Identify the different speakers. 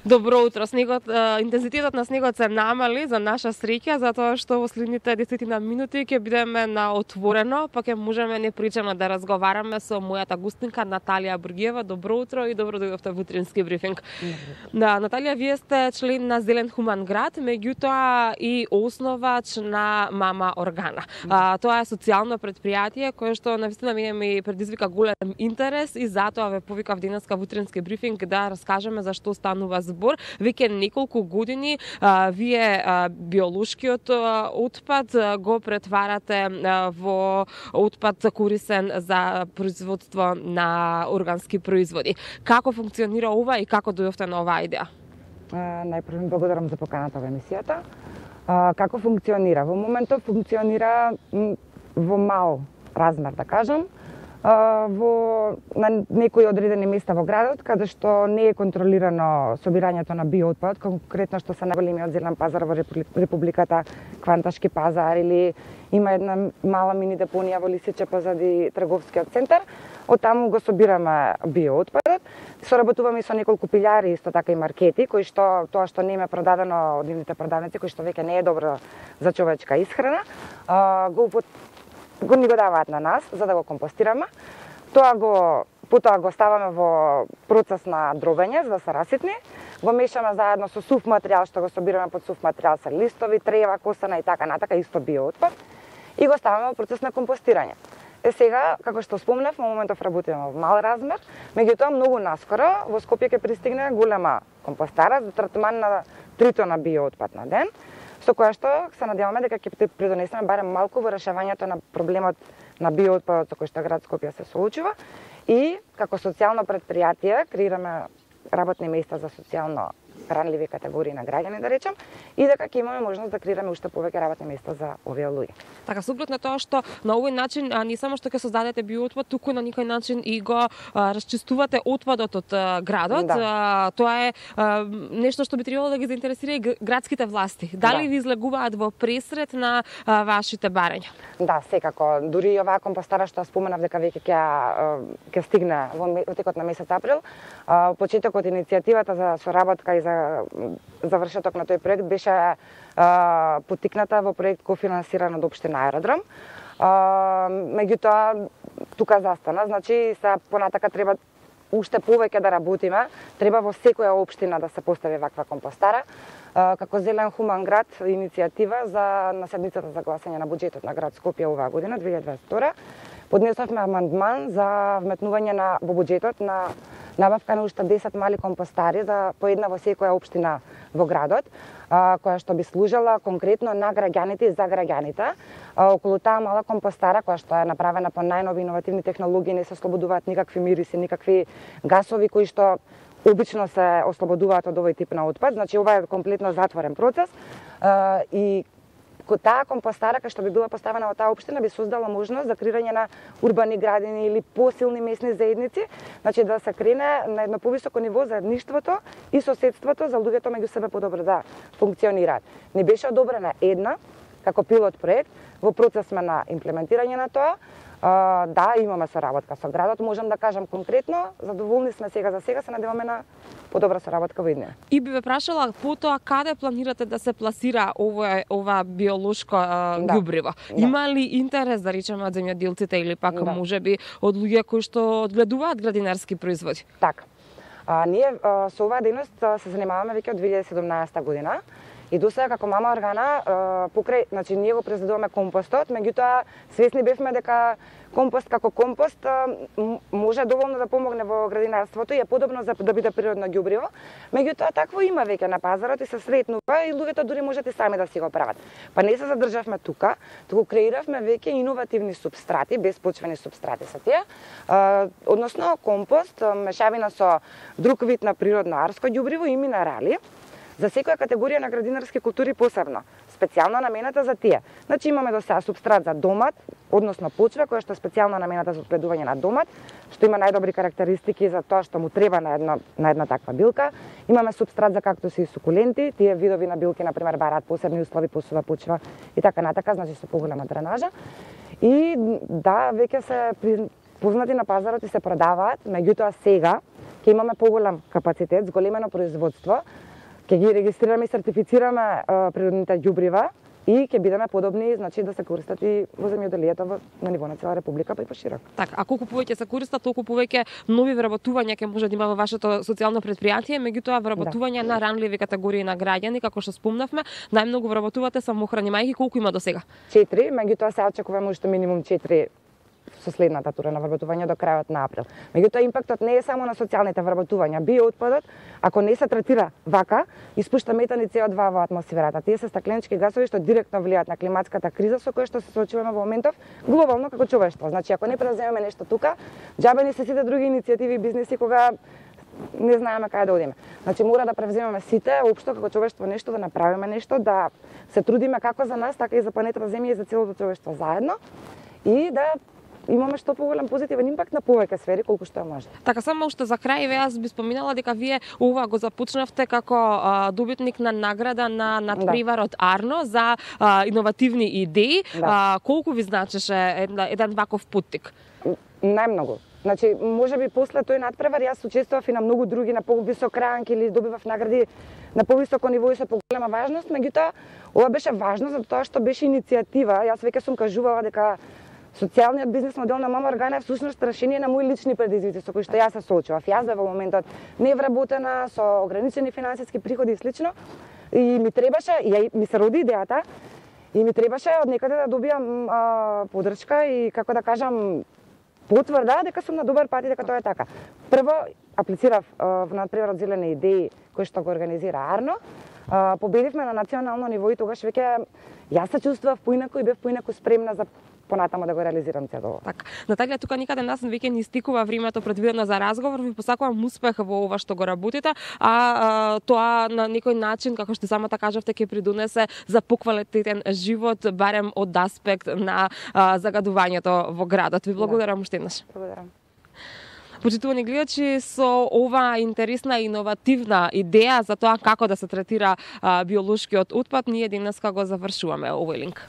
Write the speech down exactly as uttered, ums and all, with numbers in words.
Speaker 1: Добро утро. Снегот, интензитетот на снегот се намали за наша среќа, затоа што во следните десет минути ќе бидеме на отворено, па ќе можеме непричано да разговараме со мојата гостинка Наталија Бургиева. Добро утро и добро дојдовте во утрински брифинг. Да, Наталија, вие сте член на Зелен хуман град, меѓутоа и основач на Мама Органа. А, тоа е социјално претпријатие кое што навистина ми предизвика голем интерес и затоа ве повикав денеска во утрински брифинг да раскажеме за што станува збор. Веќе неколку години а, вие а, биолошкиот а, отпад а, го претварате а, во отпад корисен за производство на органски производи. Како функционира ова и како дојдовте на оваа идеја?
Speaker 2: Најпрво благодарам за поканата во емисијата. А, како функционира? Во моментот функционира во мал размер, да кажам, во на некои одредени места во градот, каде што не е контролирано собирањето на биоотпад, конкретно што се најголемиот зелен пазар во Републиката, Кванташки пазар, или има една мала мини депонија во Лисиче позади трговскиот центар. Од таму го собираме биоотпадот. Соработуваме со неколку пилјари, исто така и маркети, кои што тоа што не е продадено од нивните продавници, кои што веќе не е добро за човечка исхрана, го го ни го даваат на нас за да го компостираме. Тоа го потоа го ставаме во процес на дробење за да се раситни. Го мешаме заедно со сув материјал што го собираме под сув материјал се листови, трева, косана и така натака, исто биоотпад, и го ставаме во процес на компостирање. Е сега, како што спомнав, во моментов работиме во мал размер, меѓутоа многу наскоро во Скопје ќе пристигне голема компостара за третман на три тона биоотпад на ден, со која што се надеваме дека ќе придонесеме барем малку во решавањето на проблемот на биоотпадот со кој што град Скопје се соочува, и како социјално претпријатие креираме работни места за социјално ранливи категории на граѓани, да речем, и дека ќе имаме можност да креираме уште повеќе работни места за овие луѓе.
Speaker 1: Така, супрот на тоа што на овој начин а, не само што ќе создадете биоотпад, туку на некој начин и го а, расчистувате отпадот од а, градот.
Speaker 2: Да.
Speaker 1: А, тоа е а, нешто што би требало да ги заинтересира и градските власти. Дали
Speaker 2: да.
Speaker 1: ви излегуваат во пресред на а, вашите барања?
Speaker 2: Да, секако. Дури и оваа компостара што споменав дека веќе ќе ќе стигне во текот на месец април, а, почетокот иницијативата за соработка и за завршеток на тој проект беше а, потикната во проект кофинансиран од општина Аеродром. А, меѓутоа тука застана, значи се понатака треба уште повеќе да работиме, треба во секоја општина да се постави ваква компостара. А, како Зелен хуман град иницијатива за на седмицата за гласање на буџетот на град Скопје оваа година две илјади дваесет и втора поднесовме амандман за вметнување на во буџетот на набавка на уште десет мали компостари за по една во секоја општина во градот, а, која што би служела конкретно на граѓаните и за граѓаните. А, околу таа мала компостара, која што е направена по најнови иновативни технологии, не се ослободуваат никакви мириси, никакви гасови кои што обично се ослободуваат од овој тип на отпад. Значи ова е комплетно затворен процес, а, и таа компостара кај што би била поставена во таа општина би создала можност за креирање на урбани градини или посилни месни заедници, значи да се крене на едно повисоко ниво заедништвото и соседството за луѓето меѓу себе подобро да функционираат. Не беше одобрена една како пилот проект, во процес сме на имплементирање на тоа. Uh, да, имаме соработка со градот, можам да кажам конкретно, задоволни сме сега за сега, се надеваме на подобра соработка во иднина.
Speaker 1: И би ве прашала потоа каде планирате да се пласира ова ова биолошко
Speaker 2: да.
Speaker 1: ѓубриво?
Speaker 2: Да.
Speaker 1: Има ли интерес, да речеме, од земјоделците или пак
Speaker 2: да.
Speaker 1: можеби од луѓе кои што одгледуваат градинарски производи?
Speaker 2: Така. А, ние а, со оваа дејност се занимаваме веќе од две илјади и седумнаесета година. И до сега како Мама Органа покрај, значи ние го произведуваме компостот, меѓутоа свесни бевме дека компост како компост може доволно да помогне во градинарството и е подобно за да биде природно ѓубриво. Меѓутоа такво има веќе на пазарот и се сретнува и луѓето дури можат и сами да си го прават. Па не се задржавме тука, туку креиравме веќе иновативни супстрати, беспочвени супстрати се тие, односно компост, мешавина со друг вид на природно арско ѓубриво и минерали. За секоја категорија на градинарски култури посебно, специјално намената за тие. Значи имаме до сега супстрат за домат, односно почва која што е специјално намената за одгледување на домат, што има најдобри карактеристики за тоа што му треба на една на една таква билка. Имаме супстрат за кактуси и сукуленти, тие видови на билки на пример бараат посебни услови, посува почва и така натака, значи со поголема дренажа. И да, веќе се познати на пазарот и се продаваат, меѓутоа сега ќе имаме поголем капацитет, зголемено производство, ќе ги регистрираме и сертифицираме а, природните ѓубрива и ќе бидеме подобни, значи да се користат и во земјоделието во, на ниво на цела република, па и поширок.
Speaker 1: Така, а колку повеќе се користат, толку повеќе нови вработувања ќе може да има во вашето социјално предпријатие, меѓутоа вработување да. на ранливи категории на граѓани, како што спомнавме, најмногу вработувате самохрани мајки, колку има досега?
Speaker 2: четири, меѓутоа се очекуваме уште минимум четири со следната тура на вработување до крајот на април. Меѓутоа импактот не е само на социјалните вработувања. Биоотпадот, ако не се третира вака, испушта метан и С О два во атмосферата. Тие се стакленички гасови што директно влијаат на климатската криза со која што се соочуваме во моментов глобално како човештво. Значи ако не преземеме нешто тука, џабени се сите други иницијативи и бизниси кога не знаеме каде да одиме. Значи мора да превземеме сите општо како човештво нешто, да направиме нешто, да се трудиме како за нас, така и за планетата Земја и за целото човештво заедно и да имаме што поголем позитивен импакт на повеќе сфери колку што е може.
Speaker 1: Така, само уште за крај, ве јас би споминала дека вие ова го започнавте како а, добитник на награда на надпреварот да. Арно за а, иновативни идеи. Да. А, колку ви значеше еден, еден ваков поттик?
Speaker 2: Најмногу. Значи, може би после тој надпревар јас учествував и на многу други, на повисок ранг или добивав награди на повисоко ниво и со поголема важност, меѓутоа ова беше важно затоа што беше иницијатива. Јас веќе сум кажувала дека социјалниот бизнес модел на Мама Органа е всушност решение на мои лични предизвици со кои што јас се соочував. Јас бев во моментот невработена, со ограничени финансиски приходи и слично, и ми требаше, и ми се роди идејата, и ми требаше од некаде да добијам а, подршка и, како да кажам, потврда дека сум на добар пат и дека тоа е така. Прво, аплицирав а, во надпреварот Зелени идеи, кој што го организира Арно. А, победивме на национално ниво и тогаш веќе јас се чувствував поинаку и бев поинаку спремна за понатаму да го реализирам цело.
Speaker 1: Така. Наталија, тука никаде нас веќе не стикува времето предвидено за разговор. Ви посакувам успех во ова што го работите, а, а тоа на некој начин, како што самата кажавте, ќе придонесе за поквалитетен живот, барем од аспект на а, загадувањето во градот. Ви благодарам да. уште еднаш.
Speaker 2: Благодарам.
Speaker 1: Почитувани гледачи, со ова интересна и иновативна идеја за тоа како да се третира а, биолошкиот отпад, ние денеска го завршуваме овој линк.